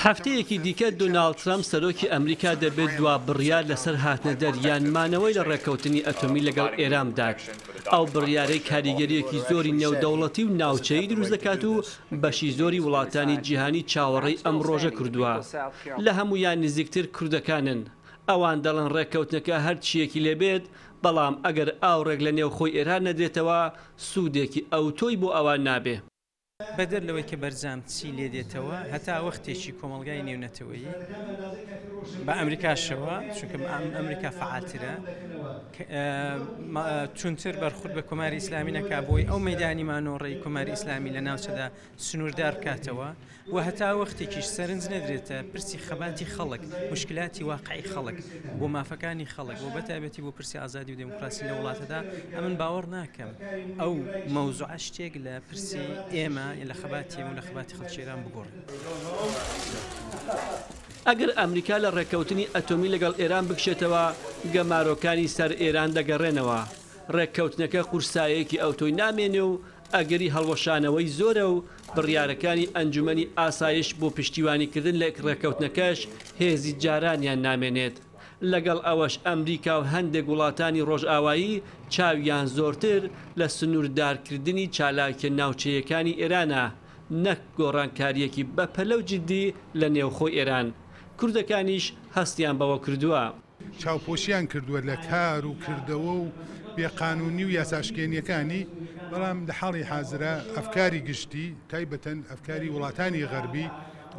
هەفتەیەکی دیکە دۆناڵد ترەمپ سەرۆکی ئەمریکا دەبێت دوا بڕیار لەسەر هاتنەدەر یان مانەوەی لە ڕێککەوتنی ئەتۆمی لەگەڵ ئێران بدات، ئەو بڕیارەی کاریگەرییەکی زۆری نێودەوڵەتی و ناوچەیی دروست دەکات و بەشی زۆری وڵاتانی جیهانی چاوەڕێی ئەم ڕۆژە کردووە. لە هەموویان نزیکتر کوردەکانن، ئەوان دەڵێن ڕێککەوتنەکە هەر چییەکی لێبێت، بەڵام ئەگەر ئاوڕێک لە نێوخۆی ئێران نەدرێتەوە سوودێکی ئەوتۆی بۆ ئەوان نابێ. بەدەر لەوەی کە بەرجام چی لێ دێتەوە، هەتا وەختێکی کۆمەڵگای نێونەتەوەیی بە ئەمریکاشەوە، چونکە ئەمریکا فەعالترە، توندتر بەرخورد بە کۆماری ئیسلامی نەکا بۆی ئەو مەیدانی مانۆڕەی کۆماری ئیسلامی لە ناوچەدا سنووردار بکاتەوە و هەتا وەختێکیش سەرنج نەدرێتە پرسی خەباتی خەڵک، موشکلاتی واقعی خەڵک بۆ مافەکانی خەڵک و بەتایبەتی بۆ پرسی ئازادی و دێموکراسی لە وڵاتەدا، ئەمن باوەڕ ناکەم ئەو مەوزوعە شتێک لە پرسی ئێمە لە خەباتی ئێمە و لە خەباتی خەڵکی ئێران بگۆڕێت. ئەگەر ئەمریکا لە ڕێککەوتنی ئەتۆمی لەگەڵ ئێران بکشێتەوە، گەمارۆکانی سەر ئێران دەگەڕێنەوە. ڕێککەوتنەکە قورسایەکی ئەوتۆی نامێنێ و ئەگەری هەڵوەشانەوەی زۆرە و بڕیارەکانی ئەنجومەنی ئاسایش بۆ پشتیوانیکردن لە ڕێککەوتنەکەش هێزی جارانیان نامێنێت. لەگەڵ ئەوەش ئەمریکا و هەندێک وڵاتانی ڕۆژئاوایی چاویان زۆرتر لە سنووردارکردنی چالاکیە ناوچەییەکانی ئێرانە نەک گۆڕانکارییەکی بەپەلە و جدی لە نێوخۆی ئێران. کوردەکانیش هەستیان بەوە کردووە. چاوپۆشیان کردووە لە کار و کردەوە و بێ قانوونی و یاساشکێنییەکانی، بەڵام لە حاڵی حازرا ئەفکاری گشتی، تایبەتەن ئەفکاری وڵاتانی غەربی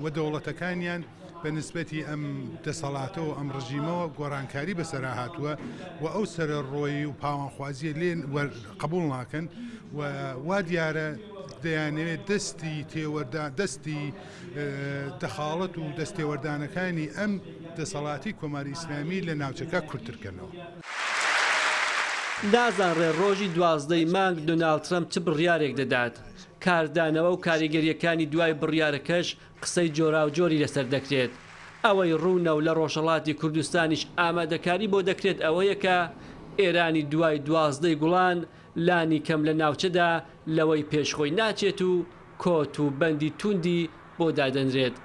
و دەوڵەتەکانیان بە نسبەتی ئەم دەسەڵاتە و ئەم ڕژیمەوە گۆڕانکاری بەسەرا هاتووە و ئەو سەرەڕۆیی و پاوانخوازییە لێ قبووڵ ناکەن و وا دیارە دەیانەوێت دەستی تێوەردان دەستی دەخاڵەت و دەستێوەردانەکانی ئەم دەسەڵاتی کۆماری ئیسلامی لە ناوچەکە کورتتر کەنەوە. نازانرێ ڕۆژی 12 ی مانگ دۆناڵد ترەمپ چ بڕیارێک دەدات، کاردانەوە و کاریگەرییەکانی دوای بڕیارەکەش قسەی جۆراوجۆری لەسەر دەکرێت. ئەوەی ڕوونە و لە ڕۆژهەڵاتی کوردستانیش ئامادەکاری بۆ دەکرێت ئەوەیە کە ئێرانی دوای 12 ی گوڵان لانی کەم لە ناوچەدا لەوەی پێش خۆی ناچێت و کۆت و بەندی تووندی بۆ دادەنرێت.